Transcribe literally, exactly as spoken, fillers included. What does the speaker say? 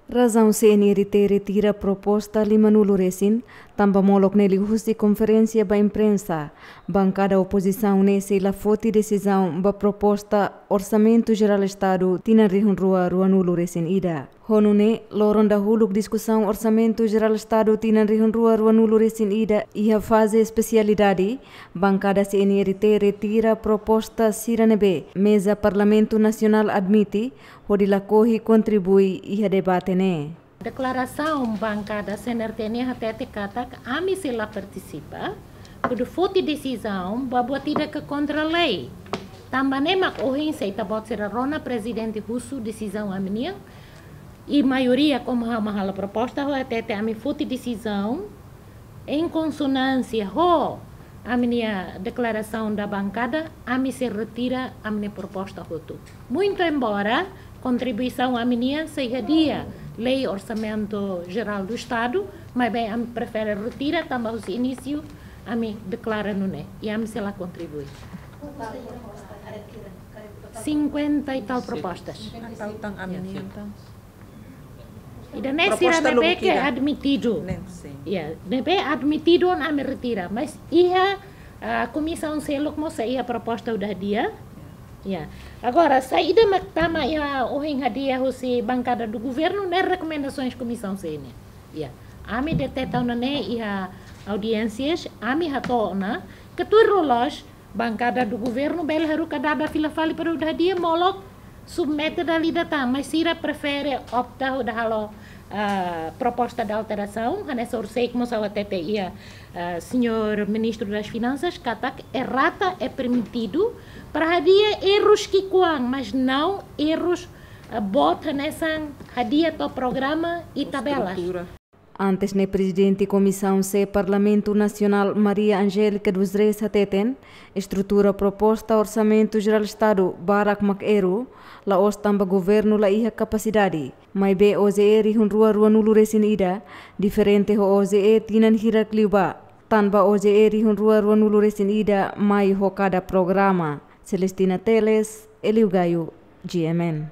Razaun C N R T retira proposta lima nulu resin, tanba molok ne'e liuhusi konferénsia ba imprensa, bankada opozisaun ne'e sei la foti desizaun ba proposta Orsamentu Jerál Estadu tinan rihun rua rua nulu resin ida. Ho nune'e, loron dahuluk diskusaun Orsamentu Jerál Estadu tinan rihun rua rua nulu resin ida iha faze espesialidade, bankada C N R T retira proposta sira ne'ebé meza Parlamentu Nasionál admite, hodi lakohi kontribui iha debate ne'e. Deklarasaun bankada C N R T nian hatete katak ami sei la partisipa, kuandu foti desizaun ba buat ida ke kontra lei. Tanba ne'e mak ohin se ita-boot sira rona prezidente husu desizaun ami-nian, i maioria komu ha'u mak halo proposta, ha'u hatete ami foti desizaun em consonância ho ami-nia deklarasaun da bankada, ami sei retira ami-nia proposta hotu. Muito embora kontribuisaun ami-nian sei hadi'a lei Orsamentu Jerál do Estadu, maibé ami prefere retira tanba husi inísiu ami deklara nune'e, i ami sei la kontribui. Cinquenta e tal propostas. Entaun, ami-nian entaun. Ida-ne'e sira ne'ebé ke admitidu. Ne'e, sin. Ya, ne'ebé admitidu ona ami retira. Mas iha, ah, komisaun seluk mós sei iha proposta hodi hadi'a. Ya. Agora, saida mak tama iha ohin hadi'a husi bankada do governu ne'e rekomendasoens komisaun C N. Ya. Ami deteta ona ne'e iha audiénsias, ami hato'o ona, ke tuir loloos, bankada do governu bele haruka dada fila fali para hodi hadi'a, molok submete dala ida tan, mas sira prefere opta hodi halo, ah, proposta de alterasaun, hanesan orsida mós ha'u hatete iha, ah, señór Ministru das Finansas, katak errata é permitidu para hadi'a errus ki'ikoan, mas não errus, ah, boot hanesan hadi'a to'o programa i tabelas. Estrutura. Antes ne'e, Prezidente Komisaun C Parlamentu Nasionál Maria Angélica dos Reis hateten, estrutura proposta Orsamentu Jerál Estadu barak mak erru, la'ós tanba governu la iha kapasidade. Maibé O J E rihun rua rua nulu resin ida diferente ho O J E tinan hirak liubá. Tanba O J E rihun rua rua nulu resin ida mai ho kada programa. Celestina Teles, Elio Gaio, G M N.